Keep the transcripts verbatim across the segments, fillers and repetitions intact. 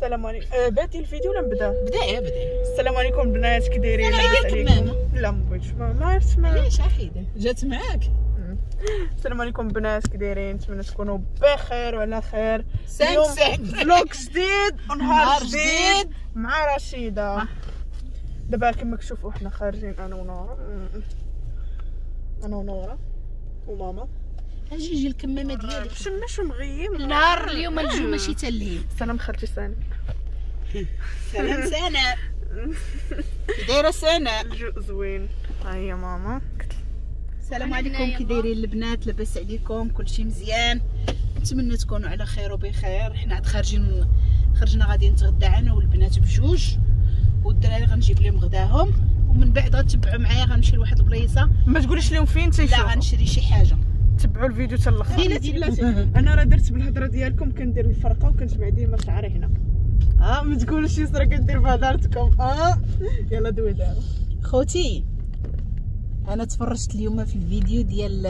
السلام عليكم. أه بادي الفيديو ولا نبدا؟ بدا بدا. السلام عليكم بنات، كي دايرين؟ لاباس عليكم؟ لا ما بغيتش، ما عرفتش ما علاش حيده جات معاك. السلام عليكم بنات، كي دايرين؟ نتمنى تكونوا بخير وعلى خير. سانك سانك vlog جديد ونهار جديد مع رشيده. دابا كما كتشوفوا حنا خارجين انا ونورا، انا ونورا وماما. اجي جي الكمامة ديالك مشمش ومغيم النهار اليوم، الجو ماشي تا الليل. سلام خالتي سناء. سلام سناء، كي دايرة سناء؟ الجو زوين. ها هي ماما. السلام عليكم، كي دايرين البنات؟ لاباس عليكم؟ كلشي مزيان؟ نتمنى تكونوا على خير وبخير. حنا عاد خارجين، خرجنا غادي نتغدى انا والبنات بجوج، والدراري غنجيب لهم غداهم، ومن بعد غتبعوا معايا غنمشي لواحد البليصه. ما تقوليش لهم فين تيشوفوا. لا غنشري شي حاجة. تبعوا الفيديو حتى الاخر. بلاتي بلاتي، انا راه درت بالهضره ديالكم، كندير الفرقة وكنجمع ديما شعري هنا. اه ما تقولوش يسرا كندير بهضرتكم. اه يلا دوي دابا. خوتي انا تفرجت اليوم في الفيديو ديال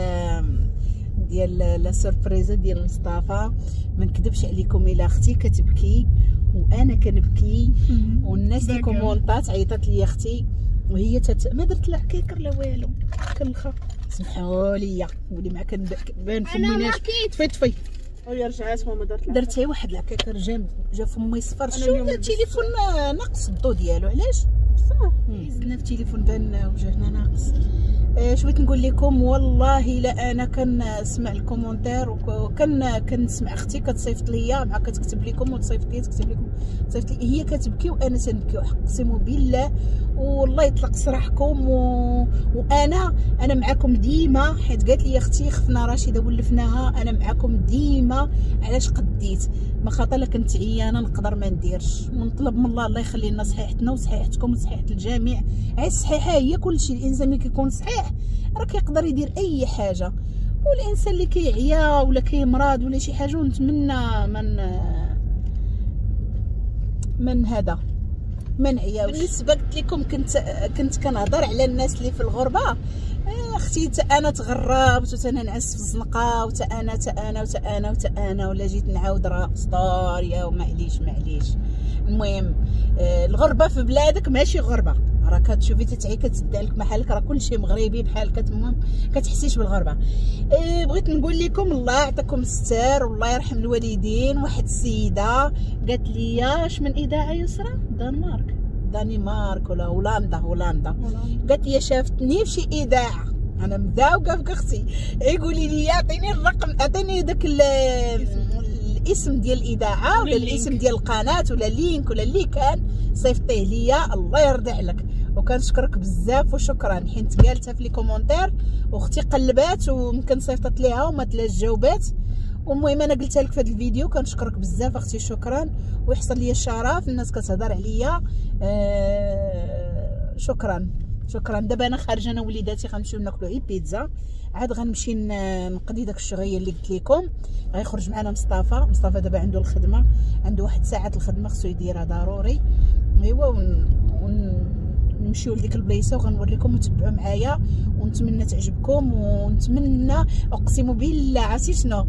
ديال la surprise ديال مصطفى. ما نكذبش عليكم الا اختي كتبكي وانا كنبكي، والناس اللي كومونطات عيطات لي اختي وهي تت... ما درت لا كيكر لا والو، كنخا سمحوا لي ولي مع كنبان فمي ناش. طفي طفي. وهي رجعات ماما دارت لها، درت غير واحد العكاكر جا جا فمي صفر. شو التليفون ناقص الضو ديالو؟ علاش بصح زدنا في التليفون بان وجهنا ناقص. آه شويت نقول لكم والله الا انا كنسمع ال commentaire وكن كنسمع اختي كتصيفط ليا مع كتكتب لكم وتصيفط لي تكتب لكم تصيفط لي، هي كتبكي وانا تنبكي اقسم بالله. والله يطلق سراحكم و... وانا انا معكم ديما، حيت قالت لي اختي خفنا رشيده ولفناها، انا معكم ديما. علاش قديت ما خاطر لا كنت عيانه نقدر ما نديرش، ونطلب من الله الله يخلي لنا صحيحتنا وصحيحتكم وصحيحه الجميع. عي الصحيحة هي كلشي، الانسان ملي كيكون صحيح راه كيقدر يدير اي حاجة، والانسان اللي كيعيا ولا كيمرض ولا شي حاجة، ونتمنى من من هذا ما نعياوش. بالنسبة قلت لكم كنت كنت كنهضر على الناس اللي في الغربة. اختي تا انا تغربت وتا انا نعس في الزنقة وتا انا تا انا وتا انا وتا انا ولا جيت نعاود راه ستوريا ومعليش معليش. المهم الغربة في بلادك ماشي غربه، راه كتشوفي تتعي كتسد عليك محلك، راه كلشي مغربي بحالك، المهم كتحسيش بالغربة. إيه بغيت نقول لكم الله يعطيكم الستر والله يرحم الوالدين. واحد السيدة قالت لي اش من اذاعة يسرى؟ دنمارك دنمارك ولا هولندا؟ هولندا. قالت لي شافتني في شي اذاعة، انا مذاوقه في اختي، يقولي لي اعطيني الرقم، اعطيني داك الاسم ديال الاذاعة ولا الاسم ديال القناة ولا link ولا اللي كان، صيفطيه ليا الله يرضي عليك. وكنشكرك بزاف وشكرا، حيت قالتها في les commentaires واختي قلبات ويمكن صيفطت ليها وما تلاش جاوبات. والمهم انا قلتها لك في هذا الفيديو، كنشكرك بزاف اختي شكرا، ويحصل لي الشرف الناس كتهضر عليا. آه شكرا شكرا. دابا انا خارجه انا وليداتي غنمشيو ناكلو غير بيتزا، عاد غنمشي نقضي داك الشغيه اللي قلت لكم. غيخرج معنا مصطفى، مصطفى دابا عنده الخدمة، عنده واحد ساعة الخدمة خصو يديرها ضروري. ايوا ون... ون... نمشيو لديك البليصه وغنوريكم وتبعوا معايا، ونتمنى تعجبكم. ونتمنى اقسم بالله عرفتي شنو،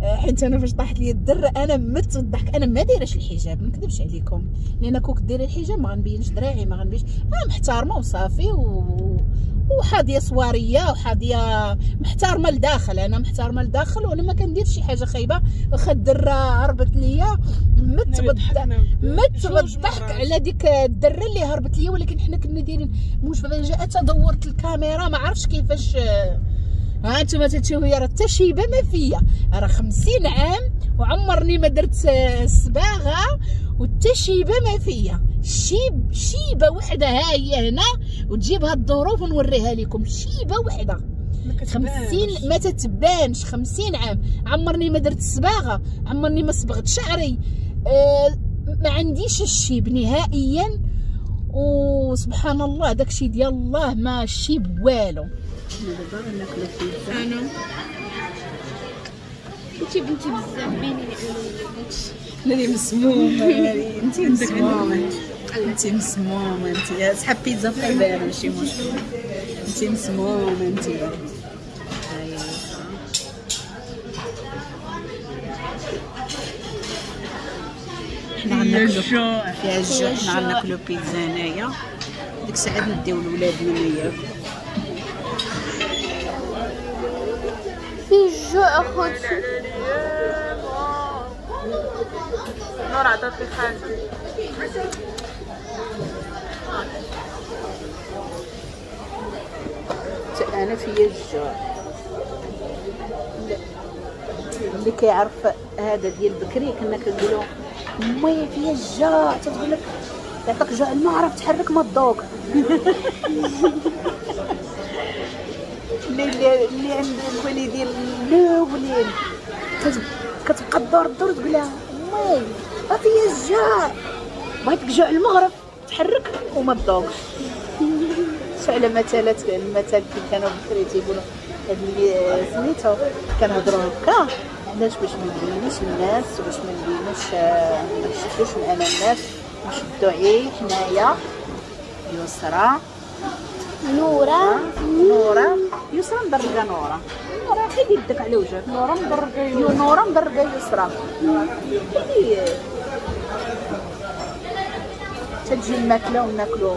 حيت انا فاش طاحت لي الدرة انا مت بالضحك. انا ما دايرهش الحجاب ما نكذبش عليكم، لان كوك دايرة الحجاب ما غنبينش دراعي ما غنبينش، انا محترمه وصافي و... وحاضيه صواريه وحاضيه محترمه لداخل، انا محترمه لداخل وانا ما كنديرش شي حاجة خايبة. واخا الدرة هربت ليا مت بالضحك مت بالضحك على ديك الدرة اللي هربت ليا، ولكن حنا كنا دايرين مفاجاة، دورت الكاميرا ما عرفتش كيفاش. ها انتم تتشوفوا راه حتى شيبة ما فيا، راه خمسين عام وعمرني ما درت الصباغه وحتى شيبة ما فيا، شيب شيبة وحده ها هي هنا وتجيبها الظروف ونوريها لكم. شيبة وحده خمسين ما تتبانش، خمسين عام عمرني ما درت الصباغه، عمرني ما صبغت شعري، أه ما عنديش الشيب نهائيا. وسبحان الله داكشي ديال الله ما الشيب والو. دابا غناكلو بيتزا. انا انتي بنتي بزاف بيني انا ولا ناري مسمومة، ناري انتي مسمومة، انتي مسمومة، انتي سحب بيتزا في البال ماشي مشكل، انتي مسمومة انتي. حنا غناكلو فيها الجوع، حنا غناكلو بيتزا هنايا. ديك الساعة نديو الولاد هنايا. في الجوع اخوتي. نور عطاتني حاجة. حتى انا فيا الجوع. اللي كيعرف هذا ديال بكري كنا كنقولوا مي فيا الجوع، تتقول لك يعطيك جوع ما عرفت تحرك ما تذوق. اللي اللي عند الوالدين الاولين كتبقى تدور تدور تقول لها مي راه فيا الجوع، بغيتك جوع المغرب تحرك وما تذوقش. على مثلات المثل كي كانوا بكري تيقولوا هاد اللي سميتو كنهضروا هكا علاش؟ باش ما نبينوش الناس وباش ما نبينوش ما نشدوش معنا الناس، نشدو عي حنايا. يسرى نورا نورا يسرى مدرقه نورا نورا حيد يدك على وجهك. نورا مدرقه نورا مدرقه يسرى. تجي الماكلة وناكلو.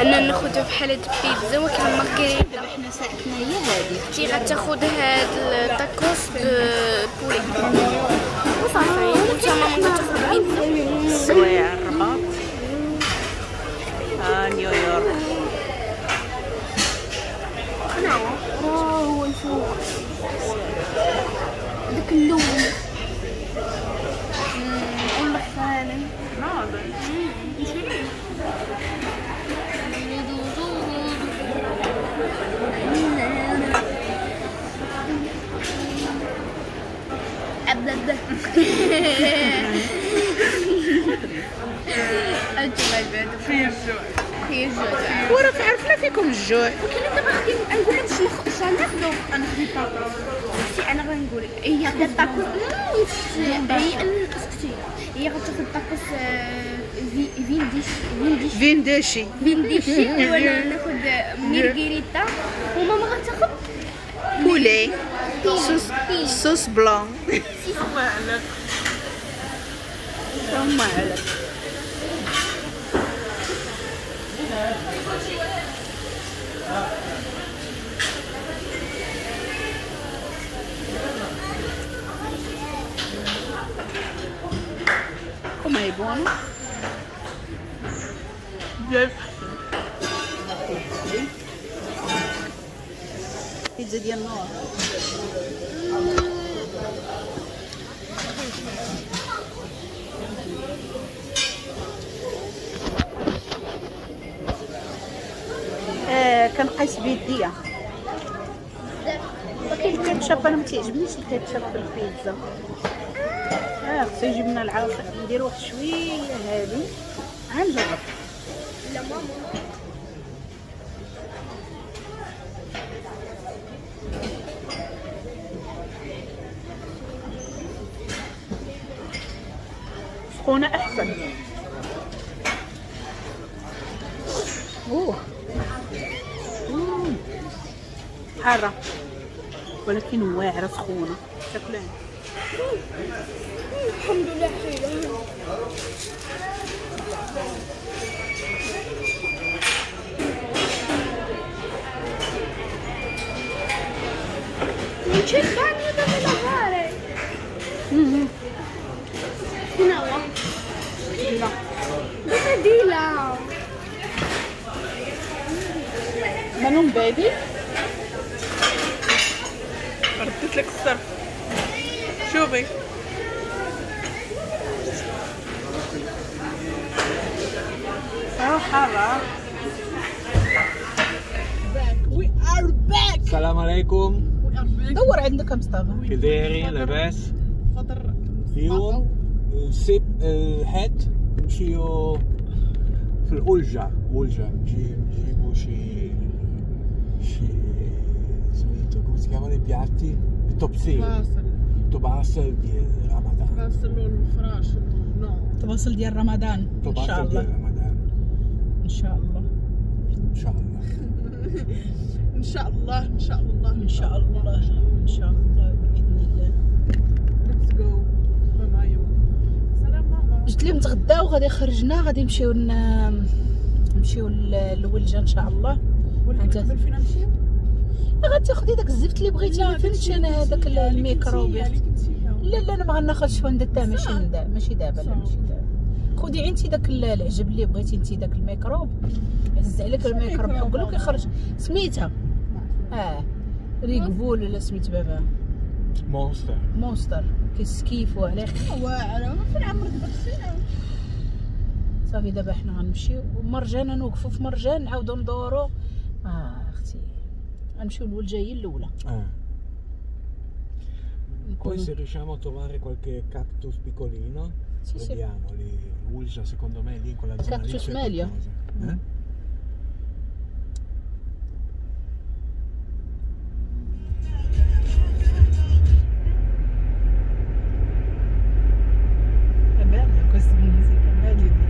انا ناخذ بحال هاد البيتزا ولكن مارغريتا. دابا حنا ساعتنا هي هادي. اختي غتاخذ هاد التاكوس poulet وصافي، وانت ماما غتاخذ بيتزا. السوايع الرباط آه نيويورك. اه هو الفوق داك اللون واللخانه. فيا الجوع فيا الجوع وراه عرفنا فيكم الجوع. ولكن دابا غادي نقول لك شنو ناخذ. انا خديت طاكوس. شتي انا غنقول لك هي خدات طاكوس، هي اسكتي، هي غتاخذ طاكوس فينديش فينديش فينديشي فينديشي، وانا ناخذ ميرغريتا، وماما غتاخذ poulet sauce sauce blanche. ثم عليك ثم عليك. Com'è buono? بيتزا ديال النور. آه كنقيس بيديا. ولكن الكاتشب انا ما تيعجبنيش الكاتشب في البيتزا. اه خصو يجيب لنا العصير، ندير واحد شوية هادي غنجرب. لا ماما سخونة احسن. اوه حارة ولكن واعرة سخونة تاكلها. الحمد لله حلوة. Non c'è il bagno dove lavare. Mm-hmm. No. Di là. Dove di là? Ma non vedi? ردت لك الصرف. شوفي اه حارة. We are back. السلام عليكم. دور عندك مصطفى. كي دايرين لاباس؟ فطر اليوم السبت الحد نمشيو في الأولجة. أولجة نجيبو شي شي سميتو come si chiamano i piatti؟ التوبسيل. التوباسل ديال رمضان. التوباسل والفراش. التوباسل ديال رمضان ان شاء الله. ديال رمضان ان شاء الله ان شاء الله. ان شاء الله ان شاء الله ان شاء الله ان شاء الله باذن الله. let's go ماما. يوم سلام ماما. جبت لهم تغداو غادي خرجنا غادي نمشيو نمشيو للولجه ان شاء الله. ولكن قبل فين نمشيو؟ غتاخدي داك الزفت اللي بغيتي. ما فهمتش انا هذاك الميكروب. لا لا انا ما غناخذش fondant ماشي ماشي دابا. لا ماشي دابا. خدي انت داك العجب اللي بغيتي انت، داك الميكروب هز عليك الميكروب حقلو كيخرج سميتها اه Red Bull ولا سميت بابا Monster. Monster كيسكيفو عليه واعرة. فين عمرك داكشي؟ صافي دابا حنا غنمشيو ومرجان، نوقفو في مرجان نعاودو ندورو. اه اختي غنمشيو للولجه هي الاولى. اه Poi se riusciamo a trovare qualche cactus piccolino, sì, vediamo lì, l'Ulgia secondo me lì in quella zona lì cactus c'è meglio. qualcosa. Eh? È bella questa musica, meglio di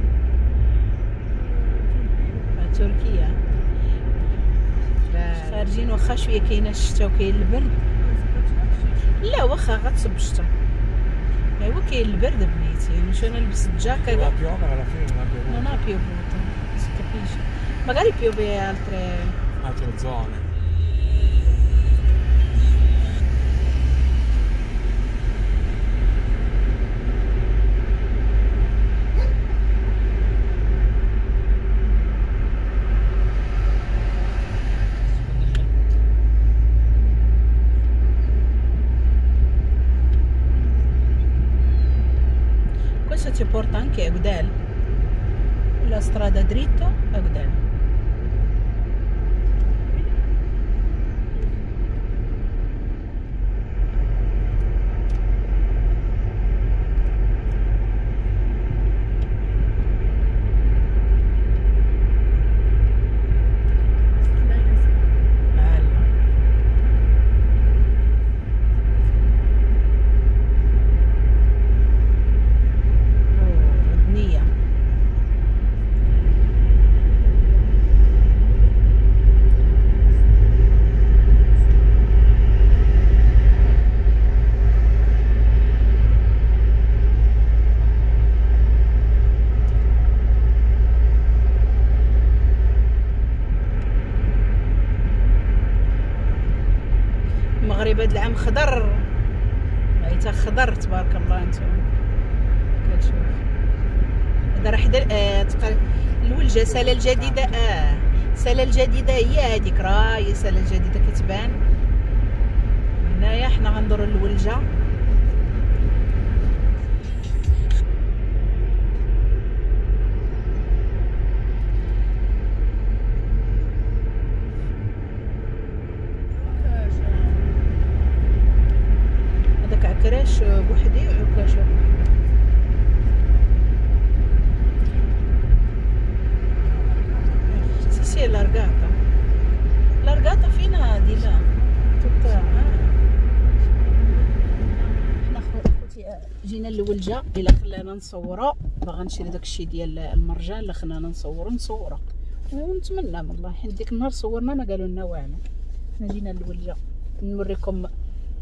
تركيا. خارجين واخا شوية كاينه الشتا وكاين البرد. لا واخا غتصب الشتا، ايوا كاين البرد بنيتي. مش انا لبست giacca La piove alla fine non ha piovuto. Non ha piovuto, si capisce. Magari piove altre altre zone. Questo ci porta anche a Agdal, la strada dritto Agdal. المغرب هذا العام خضر، عيتا خضر تبارك الله. انتم كتشوف هذا راه حدا آه الولجه ساله الجديدة. اه ساله الجديدة هي هذيك، راه هي ساله الجديدة كتبان هنايا. حنا غندورو الولجه. عكراش بوحدي وعكاشه بوحدي. Sì sì è allargata, allargata fino a di là tutta. حنا خوتي جينا للولجه، الا خلانا نصورو باغا نشري داكشي ديال المرجان، الا خلانا نصورو نصورو ونتمنى من الله، حيت ديك النهار صورنا ما قالوا لنا والو. حنا جينا للولجه نوريكم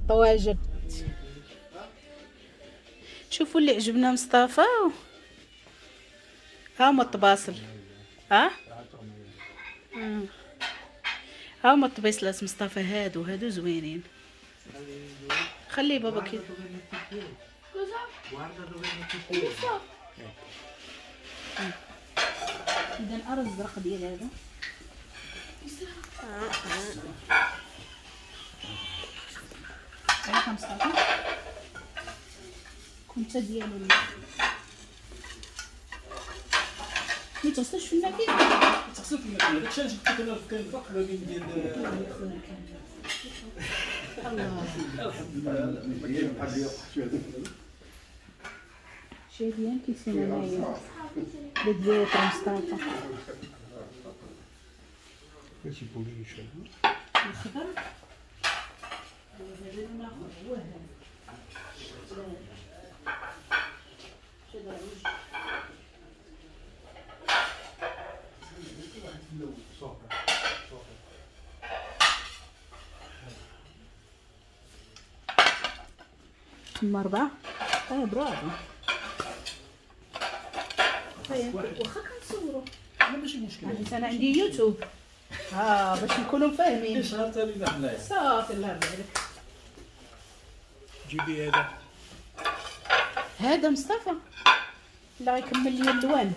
الطواجن. شوفوا اللي عجبنا مصطفى، ها هما الطباصل، ها ها هما الطبيصلات مصطفى، هادو هادو زوينين. خلي بابا كي اذا الارز الزرق ديال هذا. على مصطفى كنت ديالو ما تغسلش في الماكينة، تغسل في الماكينة. داكشي علاش قلت لك انا كاين الفرق ما بين ديال الله الحمد لله. شي ديال كيسينا معايا ديال مصطفى كلشي بوليش الخضر. هذا الاخر هو هذا. تما أربعة. اه برافو. واخا كنصورو لا ماشي مشكل، حيت انا عندي يوتيوب اه باش نكونوا فاهمين. شهر ثاني حنايا صافي الله يرضي عليك. جيبي هذا هذا مصطفى لا غيكمل لي اللوان.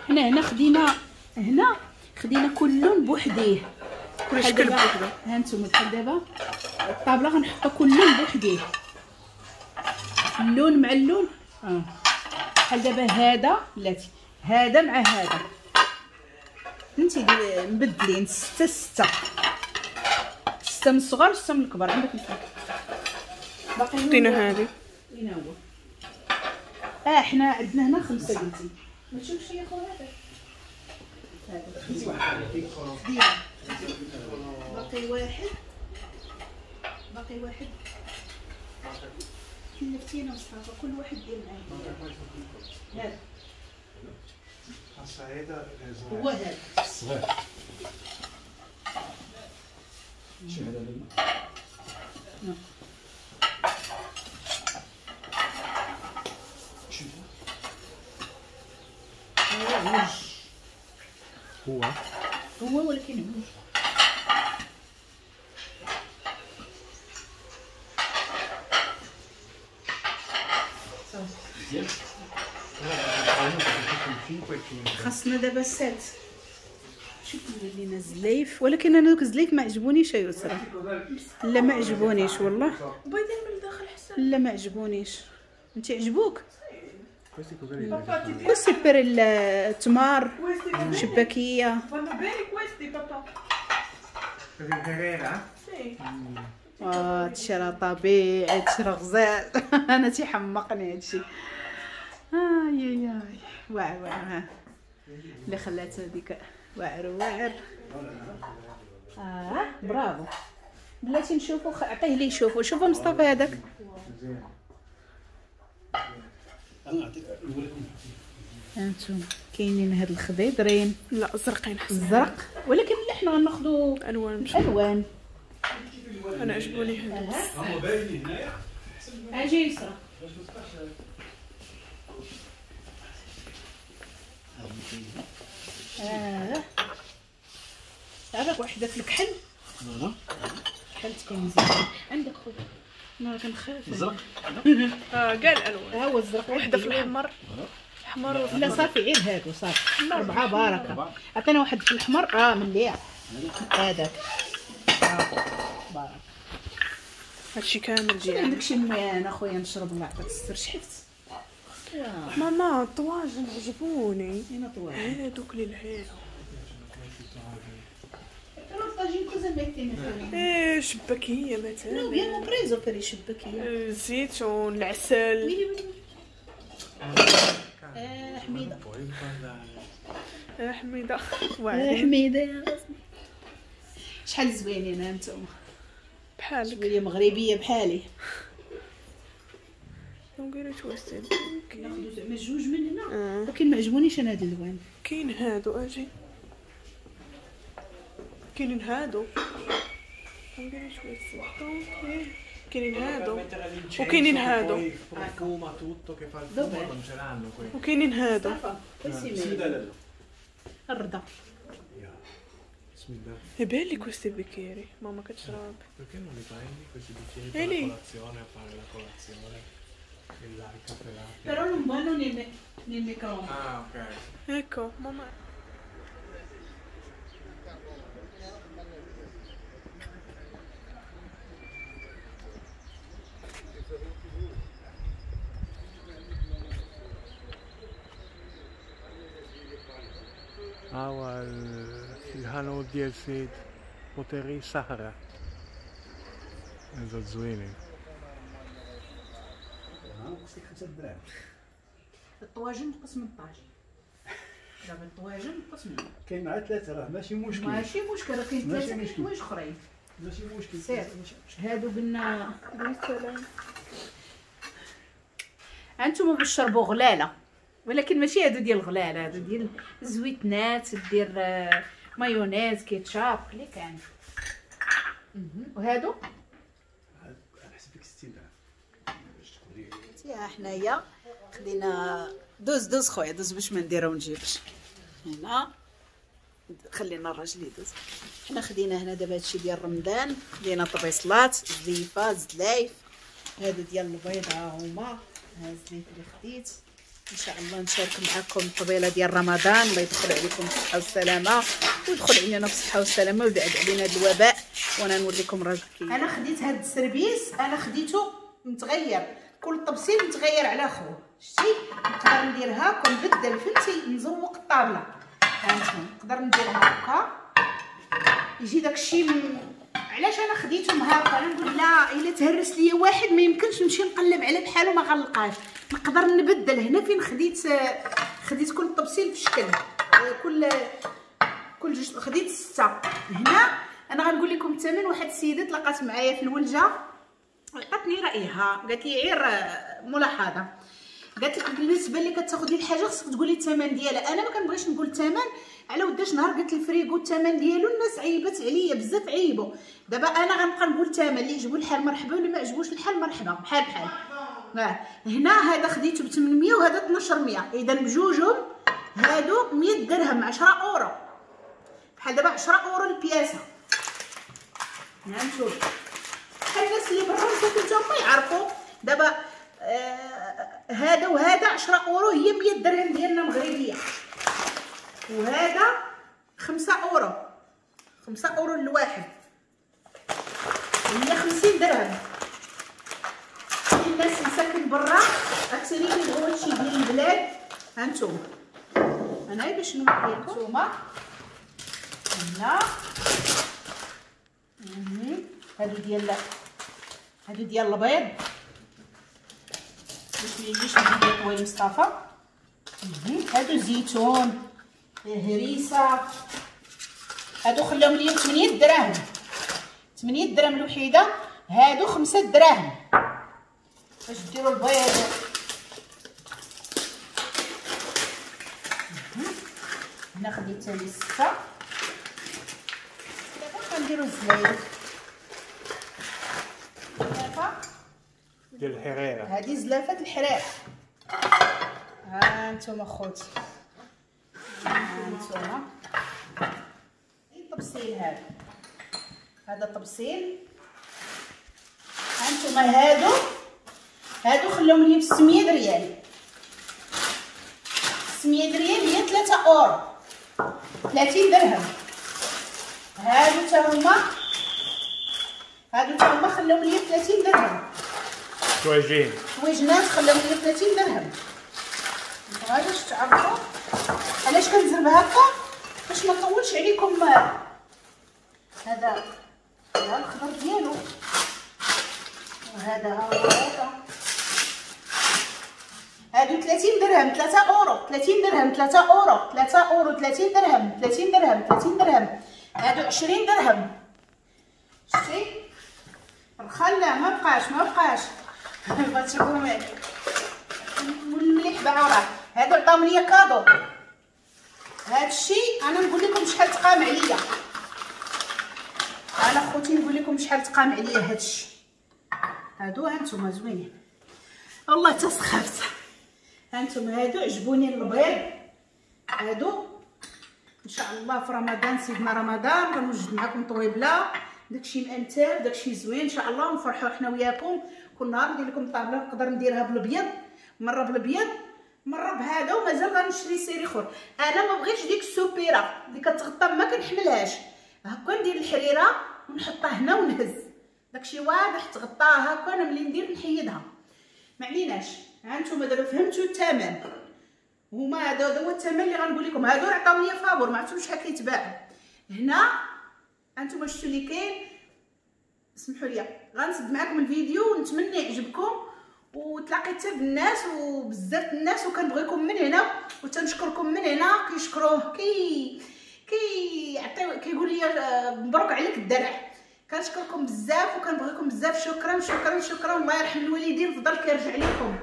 حنا هنا خدينا هنا خدينا كل لون بوحديه، كل شكل بوحده. ها انتم بحال دابا الطابله غنحطو كل لون بوحديه، اللون مع اللون. اه بحال دابا هذا بلاتي هذا مع هذا، فهمتي؟ مبدلين ستة ستة ستة من الصغار وستة من الكبار. عندك نفرق باقي خدينا هذه فين هو؟ اه حنا عندنا هنا خمسة قلتي. ما تشوفش يا خويا هذا هذا باقي واحد، باقي واحد. كلفتينا مصطفى كل واحد دير معاه هذا هو هذا الصغير. شي هذا لنا هو هو ولكن عوج. خاصنا دابا السات. شوف لينا الزليف، ولكن انا دوك الزليف ما عجبونيش يا يسرا. لا ما عجبونيش والله. بيضين من الداخل حسن. لا ما عجبونيش. انت عجبوك؟ Questi per il التمار شباكيه. اه هادشي راه طبيعي، هادشي راه غزال. انا تيحمقني هادشي. اي اي واعر واعر اللي خلات هذيك واعر واعر. اه برافو. بلاتي نشوفو، عطية لي يشوفو. شوفوا مصطفى هذاك. هانتوما كاينين هاد الخضيضرين. لا زرقين حسن الزرق، ولكن لا حنا غناخذوا الوان الوان. انا عجبوني هادو. هما باينين هنايا. اجي يسرا. اه عافاك وحده في الكحل. voilà كحل تكون مزيان عندك خويا. انا كنخاف الزرق. اه كاع الالوان. ها هو الزرق، وحده في الاحمر احمر. لا صافي غير هادو صافي اربعة بركة. عطينا واحد في الاحمر. اه مليح هذاك بارك. هادشي كامل ديال عندك شي ميان اخويا نشرب الله يعطيك الستر. شحفت ماما الطواجن عجبوني. اين طواجن؟ هادوك اللي لهيها. ايه شباكيه مثلا. Noi abbiamo preso per i شباكيه الزيتون العسل. ويلي ويلي. اه حميده اه حميده اه واعرين حميده يا راسي. شحال زوينين انتم بحالك. شوية مغربية بحالي. نقولوا توستي ناخذ زعما جوج من هنا، ولكن ما عجبونيش انا هاد اللوان. كاين هادو اجي، كاينين هادو. نقولوا توستي كاينين هادو وكاينين هادو وكاينين هادو. الرضا بسم الله. È belli questi bicchieri, mamma كتشرب. Perché non li prendi questi bicchieri per la colazione, a fare la colazione e là il caffè latte? Però non vanno nel, nel microonde. Ah, ok. Ecco, mamma. هو الهانوت ديال سيد بوتيري سهرة هذا زوينين. ناقص لك خمسة دراهم. الطواجن نقص من الطاجين. دابا الطواجن نقص منه. كاين مع ثلاثة راه ماشي مشكل. ماشي مشكل، راه كاين ثلاثة كاين حوايج أخرين. ماشي مشكل. سير هادو قلنا انتم باش تشربوا غلاله، ولكن ماشي هادو ديال الغلاله، هادو ديال الزويتنات، دير مايونيز، كيتشاب اللي كان. وهادو لك ستين درهم باش تكوني. ها حنايا خلينا دوز دوز خويا دوز باش ما نديرو ونجيبش هنا، خلينا الراجل يدوز. حنا خدينا هنا دابا هادشي ديال رمضان، خدينا طبيصلات زليفه زلايف، هادو ديال البيض ها هما، ها الزليف اللي خديت. ان شاء الله نشارك معكم الطبيله ديال رمضان، الله يدخل عليكم بالصحة والسلامة ويدخل علينا بالصحة والسلامة ويبعد علينا هاد الوباء. وانا نوريكم الراجل كي انا خديت هاد ال service، انا خديته متغير، كل طبسيل متغير على خوه. شتي نقدر ندير هاكا نبدل، فهمتي، نزوق الطابله. هانتوما نقدر ندير هكا يجي داكشي م... علاش انا خديتهم هكا؟ انا نقول لا الا تهرس ليا واحد ما يمكنش نمشي نقلب على بحالو ما غنلقاش، نقدر نبدل. هنا فين خديت خديت كل طبسيل في شكل، كل كل جوج خديت ستة. هنا انا غنقول لكم الثمن. واحد السيدة تلاقات معايا في الولجه عطاتني رايها، قالت لي غير ملاحظة، قالت لك بالنسبة اللي كتاخذي الحاجة خصك تقولي الثمن ديالها. انا ما كنبغيش نقول الثمن على وداش نهار قلت الفريغو الثمن ديالو الناس عيبت عليا بزاف، عيبوا. دابا انا غنبقى نقول الثمن، اللي عجبو الحال مرحبا واللي ما عجبوش الحال مرحبا، بحال بحال. هنا هذا خديته ب ثمنمية وهذا اثنا عشر مية، اذا بجوجهم هادو مية درهم، عشرة اورو بحال دابا عشرة اورو البياسه. نعم شوف بحال الناس اللي برا مساكن تا هما يعرفوا دابا. آه هذا وهذا عشرة اورو هي مية درهم ديالنا مغربية، وهذا خمسة اورو، خمسة اورو الواحد هي خمسين درهم. الناس مساكن برا اكثرين كيبغيو هادشي ديال البلاد. ها نتوما انا باش نوريكم نتوما هنا هادو ديال هادو ديال البيض باش ما يجيش الفيديو طويل مصطفى. هادو زيتون، هريسه، هادو خلاهم ليا ثمانية دراهم، ثمانية دراهم الوحيدة. هادو خمسة دراهم باش ديروا البيض. هنا خديت ثاني ستة. دابا غنديروا الزلايف ديال الحريره، هادي زلافه الحريره. ها نتوما خوتي، ها نتوما الطبسيل هذا، هذا طبسيل. ها نتوما هادو هادو خلاهم لي ب ستمية ريال، ستمية ريال هي ثلاثة اورو، ثلاثين درهم. هادو تا هما هادو تا هما خلاهم لي ب ثلاثين درهم. طويجين طويجنات خلاهم لي ثلاثين درهم. باش تعرفوا علاش كنزرب هكا باش ما نطولش عليكم. هذا هذا الخضر ديالو، وهذا ها هو هذا. هادو ثلاثين درهم، ثلاثة اورو، ثلاثين درهم، ثلاثة اورو، ثلاثة اورو، ثلاثين درهم، ثلاثين درهم، ثلاثين درهم. هادو عشرين درهم. شتي الخلا ما بقاش ما بقاش بغيتكم المليح باعو راه. هادو عطاهم ليا cadeau. هادشي انا نقول لكم شحال تقام عليا، انا خوتي نقول لكم شحال تقام عليا هادشي. هادو هانتوما زوينين والله تسخفت. هانتوما هادو عجبوني البيض. هادو ان شاء الله في رمضان، سيدنا رمضان، غنوجد معكم طويبله داكشي مأنتاب داكشي زوين ان شاء الله، ونفرحوا حنا وياكم. كل نهار ندير لكم طابله، نقدر نديرها بالابيض، مرة بالابيض مرة بهذا، ومازال غنشري série اخر. انا ما بغيتش ديك السوبيره اللي كتغطى ما كنحملهاش، هكا ندير الحريره ونحطها هنا ونهز داكشي واضح تغطاها هكا. انا ملي ندير نحيدها ما عليناش. ها نتوما دابا فهمتوا الثمن، هما هذا هو الثمن اللي غنقول لكم. هادو عطاو لي فابور ما عرفتش شحال كيتباعوا هنا. هانتوما شفتوا اللي كاين. اسمحوا لي غنسد معكم الفيديو ونتمنى يعجبكم، وتلاقيت حتى بالناس وبزاف الناس، وكنبغيكم من هنا وتنشكركم من هنا. كيشكروه كي كيعطيو كيقول لي مبروك عليك الدرع. كنشكركم بزاف وكنبغيكم بزاف. شكرا شكرا شكرا، الله يرحم الوالدين، فضل كيرجع لكم.